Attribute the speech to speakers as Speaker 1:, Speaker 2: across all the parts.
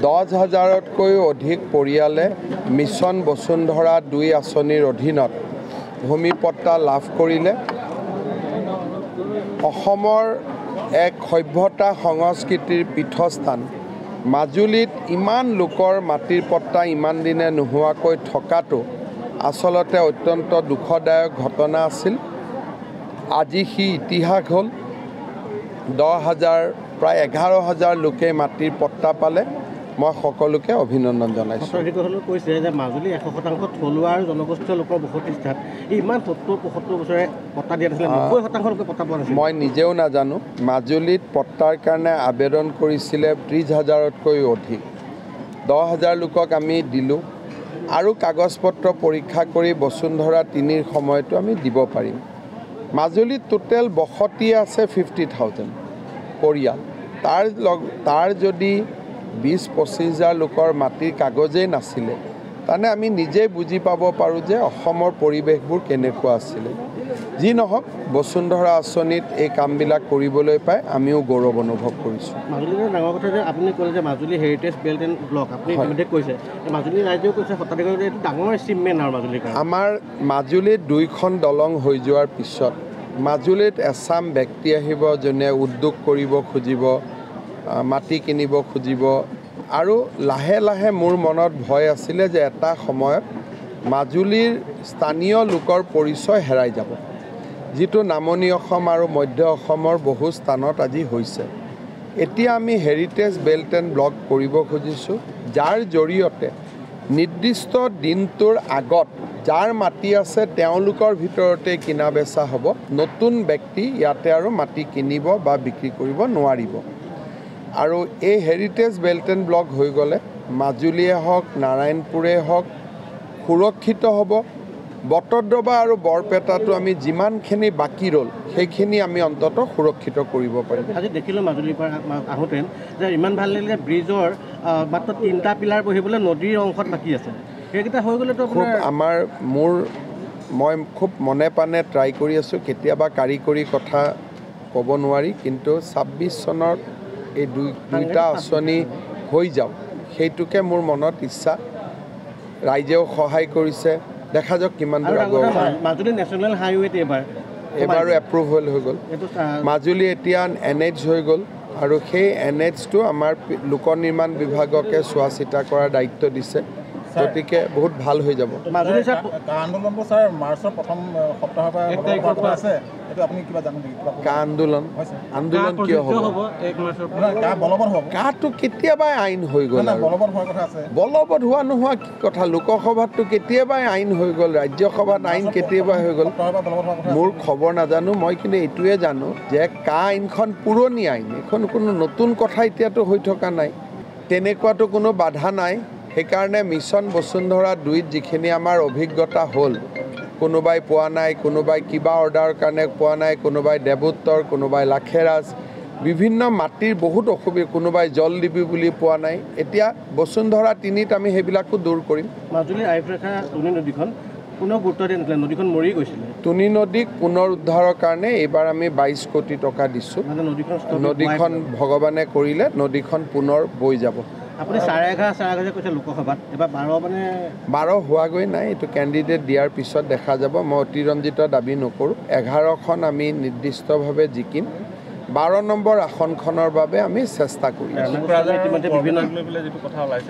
Speaker 1: 10,000তকৈও অধিক পৰিয়ালে মিছন বসুন্ধৰা 2 আঁচনিৰ অধীনত ভূমি পট্টা লাভ কৰিলে। অসমৰ এক সভ্যতা সংস্কৃতিৰ পীঠস্থান মাজুলীত ইমান লোকৰ মাটিৰ পট্টা ইমান দিনে নোহোৱাকৈ থকাটো আচলতে অত্যন্ত দুখদায়ক ঘটনা আছিল। আজি সি ইতিহাস হ'ল। 10,000 প্ৰায় 11,000 লোকে মাটিৰ পট্টা পালে। মই সকলোকে অভিনন্দন জনাইছোঁ।
Speaker 2: কৈছে যে মাজুলী 100% থলুৱা আৰু জনগোষ্ঠীয় লোকৰ বসতিস্থান, ইমান 70-75 বছৰে পট্টা দিয়া নাছিলে, 90% লোকে পট্টা পোৱা নাছিল।
Speaker 1: মই নিজেও নাজানো। মাজুলীত পট্টাৰ কাৰণে আবেদন কৰিছিলে 30,000তকৈও অধিক, 10,000 লোকক আমি দিলোঁ আৰু কাগজ পত্ৰ পৰীক্ষা কৰি বসুন্ধৰা 3ৰ সময়তো আমি দিব পাৰিম। মাজুলীত টোটেল বসতি আছে 50,000 পৰিয়াল, তাৰ যদি 20-25 হাজাৰ লোকৰ মাটিৰ কাগজেই নাছিলে, তাৰমানে আমি নিজেই বুজি পাব পাৰোঁ যে অসমৰ পৰিৱেশবোৰ কেনেকুৱা আছিলে। যি নহওক, বসুন্ধৰা আঁচনিত এই কামবিলাক কৰিবলৈ পাই আমিও গৌৰৱ অনুভৱ কৰিছোঁ।
Speaker 2: মাজুলীৰ ডাঙৰ কথা যে আপুনি ক'লে যে Majuli heritage belt and block, আপুনি ইতিমধ্যে কৈছে, মাজুলী ৰাইজেও কৈছে সত্ৰাধিকাৰী এইটো ডাঙৰ এচিভমেণ্ট আৰু মাজুলীৰ কাৰণে।
Speaker 1: আমাৰ মাজুলীত 2খন দলং হৈ যোৱাৰ পিছত মাজুলীত এচাম ব্যক্তি আহিব যোনে উদ্যোগ কৰিব খুজিব, মাটি কিনিব খুজিব, আৰু লাহে লাহে মোৰ মনত ভয় আছিলে যে এটা সময়ত মাজুলীৰ স্থানীয় লোকৰ পৰিচয় হেৰাই যাব, যিটো নামনি অসম আৰু মধ্য অসমৰ বহু স্থানত আজি হৈছে। এতিয়া আমি হেৰিটেজ বেল্ট এণ্ড ব্লক কৰিব খুজিছোঁ, যাৰ জৰিয়তে নিৰ্দিষ্ট দিনটোৰ আগত যাৰ মাটি আছে তেওঁলোকৰ ভিতৰতে কিনা বেচা হ'ব, নতুন ব্যক্তি ইয়াতে আৰু মাটি কিনিব বা বিক্ৰী কৰিব নোৱাৰিব। আৰু এই হেৰিটেজ বেল্ট এণ্ড ব্লক হৈ গ'লে মাজুলীয়ে হওক, নাৰায়ণপুৰে হওক সুৰক্ষিত হ'ব। বটদ্ৰৱা আৰু বৰপেটাটো আমি যিমানখিনি বাকী ৰ'ল সেইখিনি আমি অন্ততঃ সুৰক্ষিত কৰিব পাৰিম।
Speaker 2: আজি দেখিলোঁ মাজুলীৰ পৰা আহোঁতে যে ইমান ভাল লাগিলে, ব্ৰিজৰ মাত্ৰ 3টা পিলাৰ বহিবলৈ নদীৰ অংশত বাকী আছে, সেইকেইটা হৈ গ'লেতো
Speaker 1: খুব আমাৰ মই খুব মনে প্ৰাণে ট্ৰাই কৰি আছোঁ। কেতিয়াবা কাৰিকৰী কথা ক'ব নোৱাৰি, কিন্তু 26 চনত এই দুইটা আঁচনি হৈ যাওক, সেইটোকে মোৰ মনত ইচ্ছা। ৰাইজেও সহায় কৰিছে, দেখা যাওক কিমান দূৰ আগুৱাব।
Speaker 2: মাজুলী নেশ্যনেল হাইৱেত
Speaker 1: এইবাৰো এপ্ৰুভেল হৈ গ'ল। মাজুলী এতিয়া এন এইচ হৈ গ'ল আৰু সেই এন এইচটো আমাৰ লোক নিৰ্মাণ বিভাগকে চোৱা চিতা কৰাৰ দায়িত্ব দিছে, গতিকে বহুত ভাল হৈ যাব।
Speaker 3: আন্দোলনটো ছাৰ মাৰ্চৰ প্ৰথম সপ্তাহৰ পৰা আছে, এইটো আপুনি কিবা জানে নেকি?
Speaker 1: কা আন্দোলন আন্দোলন কিয় হ'ব? কাটো কেতিয়াবাই আইন হৈ গ'ল। বলবৎ হোৱা নোহোৱা কি কথা? লোকসভাততো কেতিয়াবাই আইন হৈ গ'ল, ৰাজ্যসভাত আইন কেতিয়াবাই হৈ গ'ল। মোৰ খবৰ নাজানো মই, কিন্তু এইটোৱে জানো যে কা আইনখন পুৰণি আইন, এইখন কোনো নতুন কথা এতিয়াতো হৈ থকা নাই, তেনেকুৱাতো কোনো বাধা নাই। সেইকাৰণে মিছন বসুন্ধৰা 2ত যিখিনি আমাৰ অভিজ্ঞতা হ'ল, কোনোবাই পোৱা নাই, কোনোবাই কিবা অৰ্ডাৰৰ কাৰণে পোৱা নাই, কোনোবাই দেৱোত্তৰ, কোনোবাই লাখেৰাজ, বিভিন্ন মাটিৰ বহুত অসুবিধা, কোনোবাই জল দিবি বুলি পোৱা নাই। এতিয়া বসুন্ধৰা 3ত আমি সেইবিলাকো দূৰ কৰিম।
Speaker 2: মাজুলীৰ আইফৰেখা টুনি নদীখন কোনেও গুৰুত্ব দিয়া নাছিলে, নদীখন মৰি গৈছিলে।
Speaker 1: টুনি নদীক পুনৰ উদ্ধাৰৰ কাৰণে এইবাৰ আমি 22 কোটি টকা দিছোঁ। নদীখন ভগৱানে কৰিলে নদীখন পুনৰ বৈ যাব।
Speaker 2: আপুনি 11.5 কৈছে লোকসভাত, এবাৰ 12 মানে
Speaker 1: 12 হোৱাগৈ নাই, এইটো কেণ্ডিডেট দিয়াৰ পিছত দেখা যাব। মই অতিৰঞ্জিত দাবী নকৰোঁ। 11খন আমি নিৰ্দিষ্টভাৱে জিকিম, 12 নম্বৰ আসনখনৰ বাবে আমি চেষ্টা কৰিম।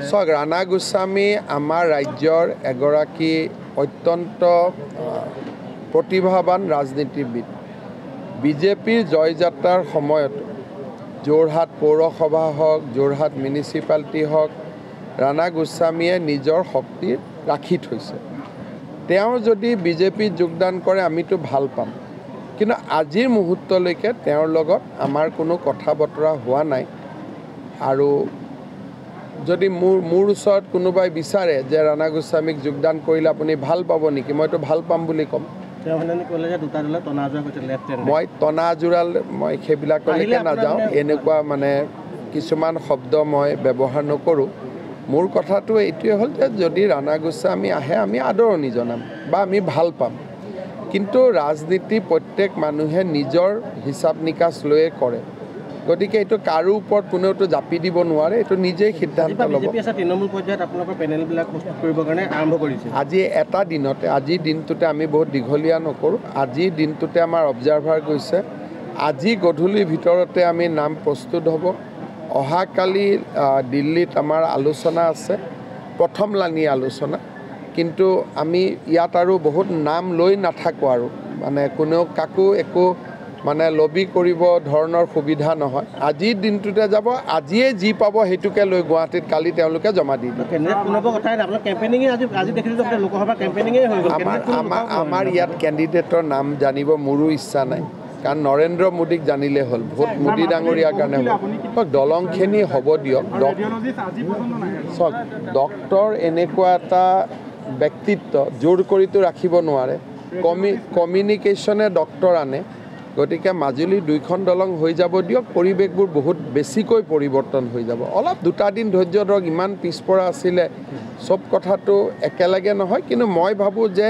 Speaker 1: চাওক, ৰাণা গোস্বামী আমাৰ ৰাজ্যৰ এগৰাকী অত্যন্ত প্ৰতিভাৱান ৰাজনীতিবিদ। বিজেপিৰ জয়যাত্ৰাৰ সময়ত যোৰহাট পৌৰসভা হওক, যোৰহাট মিউনিচিপালিটি হওক, ৰাণা গোস্বামীয়ে নিজৰ শক্তি ৰাখি থৈছে। তেওঁ যদি বিজেপিত যোগদান কৰে আমিতো ভাল পাম, কিন্তু আজিৰ মুহূৰ্তলৈকে তেওঁৰ লগত আমাৰ কোনো কথা বতৰা হোৱা নাই। আৰু যদি মোৰ ওচৰত কোনোবাই বিচাৰে যে ৰাণা গোস্বামীক যোগদান কৰিলে আপুনি ভাল পাব নেকি, মইতো ভাল পাম বুলি ক'ম। মই টনা আজোৰাল মই সেইবিলাকলৈকে নাযাওঁ, এনেকুৱা মানে কিছুমান শব্দ মই ব্যৱহাৰ নকৰোঁ। মোৰ কথাটো এইটোৱে হ'ল যে যদি ৰাণা গোস্বামী আহে আমি আদৰণি জনাম বা আমি ভাল পাম, কিন্তু ৰাজনীতি প্ৰত্যেক মানুহে নিজৰ হিচাপ নিকাচ লৈয়ে কৰে। গতিকে এইটো কাৰো ওপৰত কোনেওতো জাপি দিব নোৱাৰে, এইটো নিজেই সিদ্ধান্ত ল'ব।
Speaker 2: বিজেপি আছে তৃণমূল পৰ্যায়ত আপোনালোকৰ পেনেলবিলাক প্ৰস্তুত কৰিবৰ কাৰণে আৰম্ভ কৰিছে।
Speaker 1: আজি এটা দিনতে, আজিৰ দিনটোতে আমি বহুত দীঘলীয়া নকৰোঁ। আজিৰ দিনটোতে আমাৰ অবজাৰ্ভাৰ গৈছে, আজি গধূলিৰ ভিতৰতে আমি নাম প্ৰস্তুত হ'ব। অহাকালি দিল্লীত আমাৰ আলোচনা আছে, প্ৰথম লানি আলোচনা। কিন্তু আমি ইয়াত আৰু বহুত নাম লৈ নাথাকোঁ আৰু, মানে কোনেও কাকো একো মানে লবি কৰিব ধৰণৰ সুবিধা নহয়। আজিৰ দিনটোতে যাব, আজিয়ে যি পাব সেইটোকে লৈ গুৱাহাটীত কালি তেওঁলোকে জমা দি দিব। আমাৰ ইয়াত কেণ্ডিডেটৰ নাম জানিব মোৰো ইচ্ছা নাই, কাৰণ নৰেন্দ্ৰ মোদীক জানিলে হ'ল, ভোট মোদী ডাঙৰীয়াৰ কাৰণে হ'ল। দলংখিনি হ'ব দিয়ক। চাওক, ডক্টৰ এনেকুৱা এটা ব্যক্তিত্ব, জোৰ কৰিতো ৰাখিব নোৱাৰে। কমিউনিকেশ্যনে ডক্টৰ আনে। গতিকে মাজুলীৰ দুইখন দলং হৈ যাব দিয়ক, পৰিৱেশবোৰ বহুত বেছিকৈ পৰিৱৰ্তন হৈ যাব। অলপ দুটা দিন ধৈৰ্য ধৰক, ইমান পিছপৰা আছিলে, চব কথাটো একেলগে নহয়। কিন্তু মই ভাবোঁ যে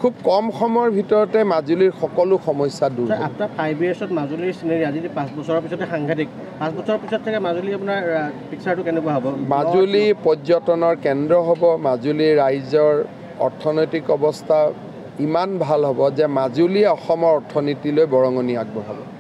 Speaker 1: খুব কম সময়ৰ ভিতৰতে মাজুলীৰ সকলো সমস্যা দূৰ হ'ব।
Speaker 2: আফটাৰ 5 ইয়াৰ্ছত মাজুলীৰ চিনেৰী, আজি 5 বছৰৰ পিছতে সাংঘাতিক, 5 বছৰৰ পিছত চাগে মাজুলী আপোনাৰ পিকচাৰটো কেনেকুৱা হ'ব?
Speaker 1: মাজুলী পৰ্যটনৰ কেন্দ্ৰ হ'ব। মাজুলীৰ ৰাইজৰ অৰ্থনৈতিক অৱস্থা ইমান ভাল হ'ব যে মাজুলীয়ে অসমৰ অৰ্থনীতিলৈ বৰঙণি আগবঢ়াব।